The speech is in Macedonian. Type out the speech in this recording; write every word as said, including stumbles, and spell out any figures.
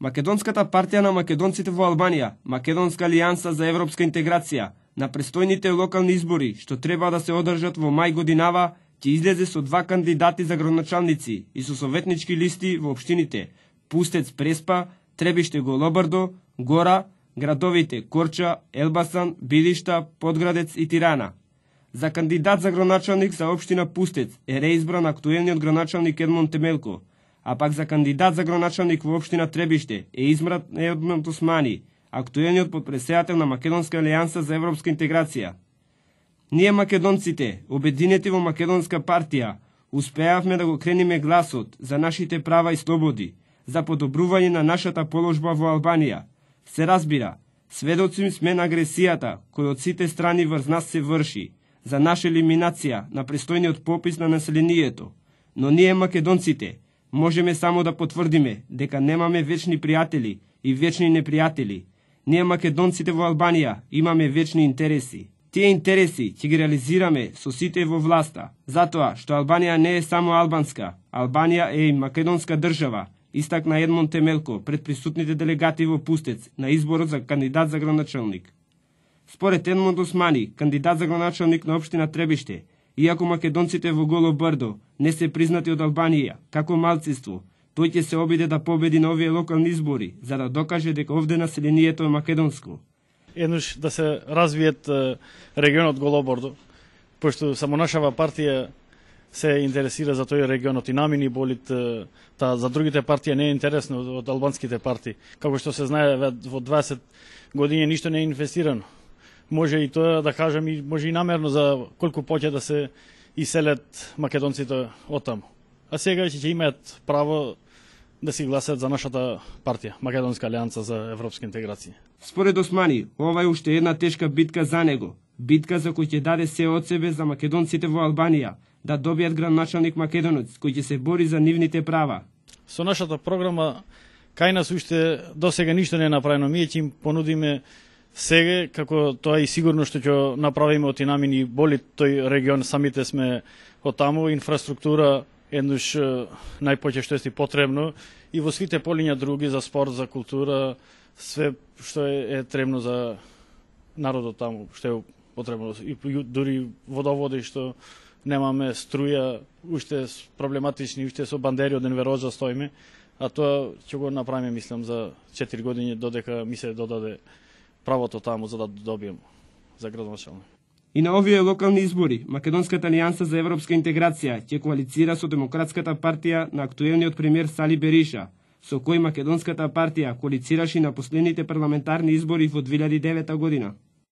Македонската партија на македонците во Албанија, Македонска алијанса за европска интеграција, на престојните локални избори, што треба да се одржат во мај годинава, ќе излезе со два кандидати за градоначалници и со советнички листи во општините Пустец, Преспа, Требиште, Голобрдо, Гора, градовите Корча, Елбасан, Билишта, Подградец и Тирана. За кандидат за градоначалник за општина Пустец е реизбран актуелниот градоначалник Едмон Темелко, а пак за кандидат за градоначалник во општина Требиште е избран Едмон Османи, актуелниот подпредседател на Македонска алијанса за европска интеграција. Ние македонците, обединети во Македонска партија, успеавме да го крениме гласот за нашите права и слободи, за подобрување на нашата положба во Албанија. Се разбира, сведоци сме на агресијата која од сите страни врз нас се врши, за наша елиминација на престојниот попис на населението. Но ние македонците можеме само да потврдиме дека немаме вечни пријатели и вечни непријатели. Ние македонците во Албанија имаме вечни интереси. Тие интереси ќе ги реализираме со сите во власта, затоа што Албанија не е само албанска, Албанија е и македонска држава, истакна Едмон Темелко пред присутните делегати во Пустец на изборот за кандидат за градоначалник. Според Едмон Османи, кандидат за градоначалник на општина Требиште, иако македонците во Голо Брдо не се признати од Албанија како малцинство, тој ќе се обиде да победи на овие локални избори, за да докаже дека овде населението е македонско. Еднош да се развиет регионот Голобордо, пошто само нашава партија се интересира за тој регионот и намини болит, та за другите партии не е интересно од албанските партии. Како што се знае, во дваесет години ништо не е инвестирано. Може и тоа да кажем, и може и намерно за колку поќе да се иселат македонците оттаму. А сега ќе имаат право да си гласат за нашата партија, Македонска алијанса за европска интеграција. Според Османи, ова е уште една тешка битка за него, битка за кој ќе даде се од себе за македонците во Албанија, да добијат градоначалник македонец кој ќе се бори за нивните права. Со нашата програма кај нас уште досега ништо не е направено. Ние ќе им понудиме сега, како тоа и сигурно што ќе направиме од Инамини боли тој регион, самите сме од таму, инфраструктура еднош најпоќе што е потребно и во сите полиња други за спорт, за култура, све што е, е требно за народот таму, што е потребно и дури водоводи што немаме, струја, уште проблематични, уште со бандери од Енвероза стоиме, а тоа ќе го направиме, мислам, за четири години додека ми се додаде правото таму за да добием за градоначалник. И на овие локални избори, Македонската алијанса за европска интеграција ќе коалицира со Демократската партија на актуелниот премиер Сали Бериша, со кој Македонската партија коалицираше на последните парламентарни избори во две илјади и девета година.